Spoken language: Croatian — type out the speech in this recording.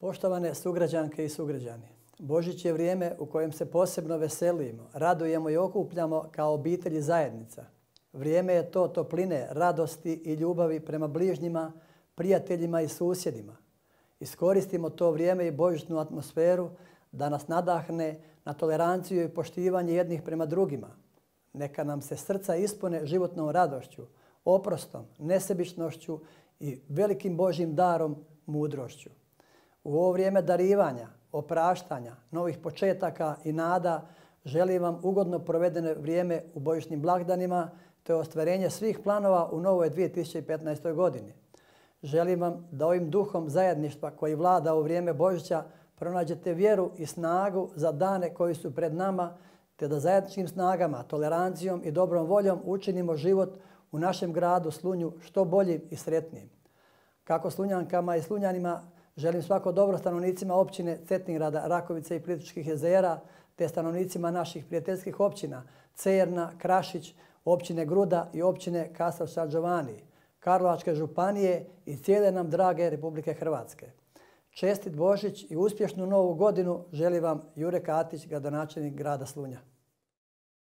Poštovane sugrađanke i sugrađani, Božić je vrijeme u kojem se posebno veselimo, radujemo i okupljamo kao obitelj i zajednica. Vrijeme je to topline, radosti i ljubavi prema bližnjima, prijateljima i susjedima. Iskoristimo to vrijeme i božićnu atmosferu da nas nadahne na toleranciju i poštivanje jednih prema drugima. Neka nam se srca ispune životnom radošću, oprostom, nesebičnošću i velikim Božjim darom, mudrošću. U ovo vrijeme darivanja, opraštanja, novih početaka i nada želim vam ugodno provedeno vrijeme u božićnim blagdanima te ostvarenje svih planova u novoj 2015. godini. Želim vam da ovim duhom zajedništva koji vlada u vrijeme Božića pronađete vjeru i snagu za dane koji su pred nama te da zajedničkim snagama, tolerancijom i dobrom voljom učinimo život u našem gradu Slunju što boljim i sretnijim. Kako Slunjankama i Slunjanima želim svako dobro stanovnicima općine Cetingrada, Rakovice i Plitvičkih jezera te stanovnicima naših prijateljskih općina Cerna, Krašić, općine Gruda i općine Kastrov San Giovanni, Karlovačke županije i cijele nam drage Republike Hrvatske. Čestit Božić i uspješnu novu godinu želi vam Jure Katić, gradonačelnik grada Slunja.